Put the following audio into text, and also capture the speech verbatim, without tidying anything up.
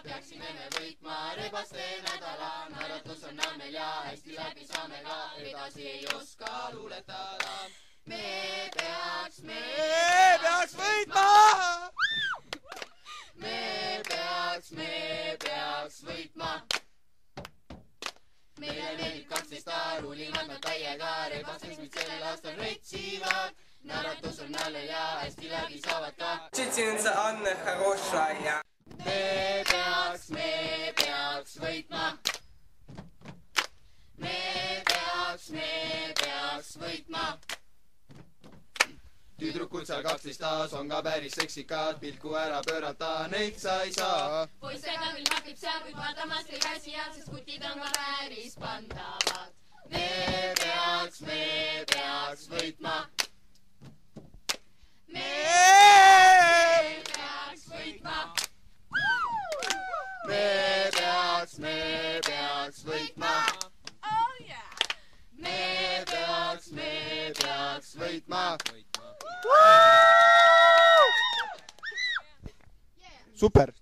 peaksime me võitma rebaste nädala. Naeratus on nämmel ja hästi läbi saame ka, edasi ei oska luuletada. Me peaks, me peaks võitma! Me peaks, me peaks võitma. Meile meeldib kaksteist ruulivad nad täiega, rebastes meid sellel aastal retsivad. Naeratus on nällel ja hästi läbi saavad ka. Tšetšinitsa Anne Хорошая. Me peaks, me peaks võitma. Me peaks, me peaks võitma. Tüdrukud seal kaksteist taas on ka päris seksikad, pilku ära pöörata, neid sa ei saa. Poissega küll hakib seal, kuid vaatamas ei käsi all, sest kutid on ka päris pandavad. Me peaks, me peaks võitma. Me peaks võitma. Me peaks, me peaks võitma. Me peaks, me peaks võitma. Super!